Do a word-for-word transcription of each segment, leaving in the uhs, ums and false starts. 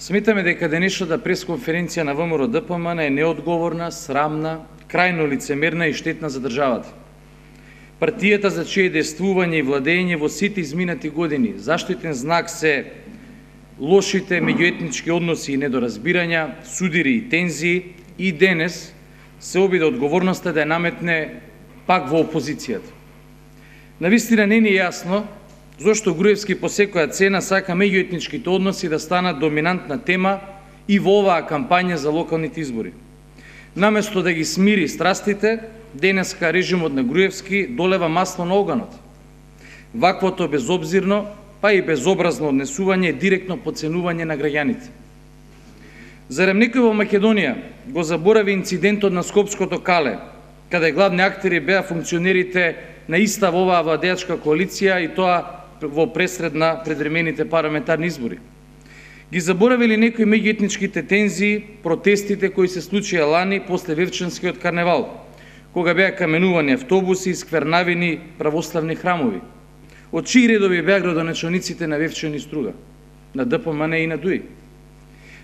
Сметаме дека денешната пресконференција на ВМРО-ДПМН е неодговорна, срамна, крајно лицемерна и штетна за државата. Партијата за чие действување и владење во сите изминати години заштитен знак се лошите меѓуетнички односи и недоразбирања, судири и тензии, и денес се обиде одговорноста да ја наметне пак во опозицијата. Навистина не ни е јасно зошто Груевски по секоја цена сака меѓуетничките односи да станат доминантна тема и во оваа кампања за локалните избори. Наместо да ги смири страстите, денеска режимот на Груевски долева масло на оганот. Ваквото безобзирно, па и безобразно однесување е директно подценување на граѓаните. Зарем некој во Македонија го заборави инцидентот на Скопското кале, каде главни актери беа функционерите на иста во оваа владеачка коалиција и тоа во пресред на предвремените парламентарни избори. Ги заборавили некои меѓуетничките тензии, протестите кои се случија лани после Вевчанскиот карневал, кога беа каменувани автобуси и сквернавени православни храмови. Од чии редови беа градоначалниците на Вевчан и Струга, на ДПМН и на ДУИ?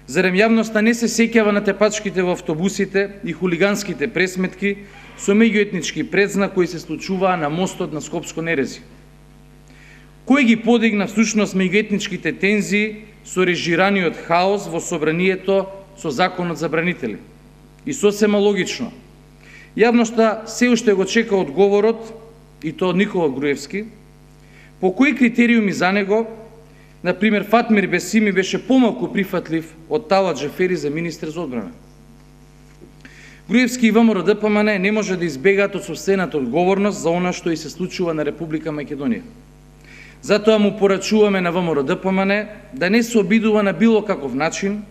Зарем јавноста не се сеќава на тепачките во автобусите и хулиганските пресметки со меѓуетнички предзнак кои се случуваа на мостот на Скопско Нерези? Кој ги подигна всушност меѓуетничките тензии со режираниот хаос во собранието со законот за бранители? И сосема логично, јавноста се уште го чека одговорот, и то од Никола Груевски, по кои критериуми за него, например, Фатмир Бесими беше помалку прифатлив од Талат Джафери за министер за одбрана. Груевски и ВМРО-ДПМН не може да избегаат од собствената одговорност за она што и се случува на Република Македонија. Затоа му порачуваме на ВМРО-ДПМН да не се обидува на било каков начин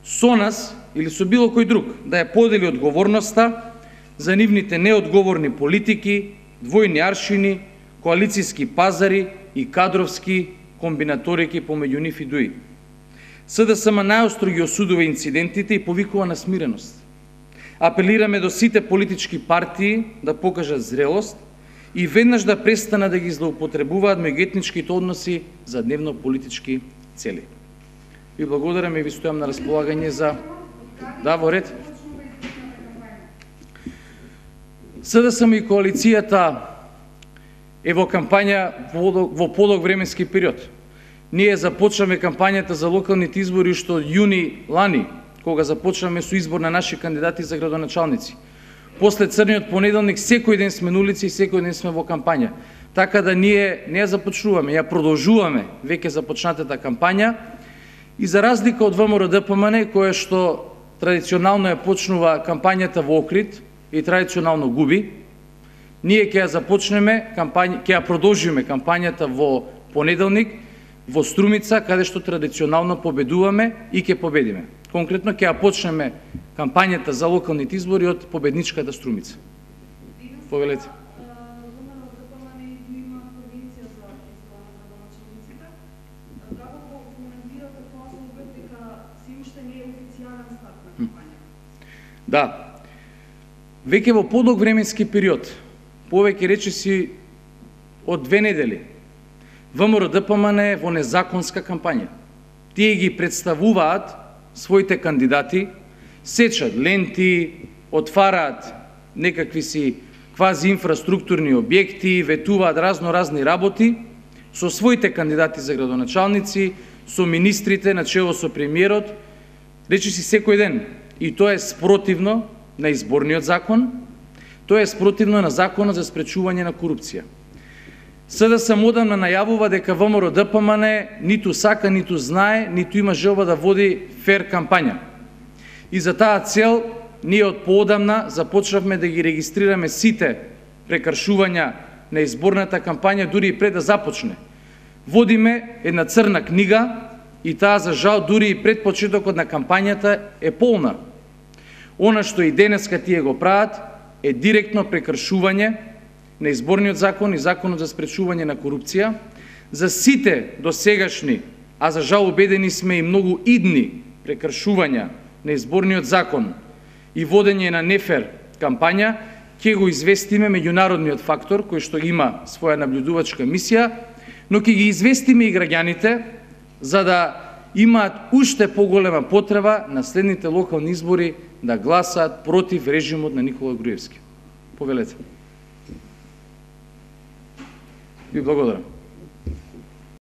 со нас или со било кој друг да ја подели одговорноста за нивните неодговорни политики, двојни аршини, коалицијски пазари и кадровски комбинаторики помеѓу нив и ДУИ. СДСМ најостро ги осудува инцидентите и повикува на смиреност. Апелираме до сите политички партии да покажат зрелост и веднаш да престана да ги злоупотребуваат меѓуетничките односи за дневно политички цели. Ви благодарам и ви стојам на располагање за... Да, во ред. СДСМ и коалицијата е во кампања во подолг временски период. Ние започнаме кампањата за локалните избори што од јуни лани, кога започнаме со избор на наши кандидати за градоначалници. После црниот понеделник секој ден сме на улици и секој ден сме во кампања. Така да ние не ја започнуваме, ја продолжуваме веќе започнатата кампања и за разлика од ВМРО-ДПМН, која што традиционално ја почнува кампањата во Охрид и традиционално губи, ние ќе ја започнеме кампања, ќе ја продолжиме кампањата во понеделник во Струмица, каде што традиционално победуваме и ќе победиме. Конкретно ќе ја почнеме кампањата за локалните избори од победничката Струмица. Повелете. Да. Веќе во подолг временски период, повеќе речиси од две недели, ВМРО-ДПМН е во незаконска кампања. Тие ги представуваат своите кандидати, сечат ленти, отвараат некакви си квази инфраструктурни објекти, ветуваат разно-разни работи со своите кандидати за градоначалници, со министрите на чело со премиерот, речиси секој ден. И тоа е спротивно на изборниот закон, тоа е спротивно на законот за спречување на корупција. СДСМ одамна најавува дека ВМРО-ДПМН ниту сака, ниту знае, ниту има желба да води фер кампања. И за таа цел ние од поодамна започнавме да ги регистрираме сите прекршувања на изборната кампања дури и пред да започне. Водиме една црна книга и таа за жал дури и пред почетокот на кампањата е полна. Она што и денеска тие го прават е директно прекршување на изборниот закон и законот за спречување на корупција, за сите досегашни, а за жал убедени сме и многу идни прекршувања на изборниот закон и водење на нефер кампања, ќе го известиме меѓународниот фактор кој што има своја наблюдувачка мисија, но ќе ги известиме и граѓаните за да имаат уште поголема потреба на следните локални избори да гласаат против режимот на Никола Груевски. Повелете. Ви благодарам.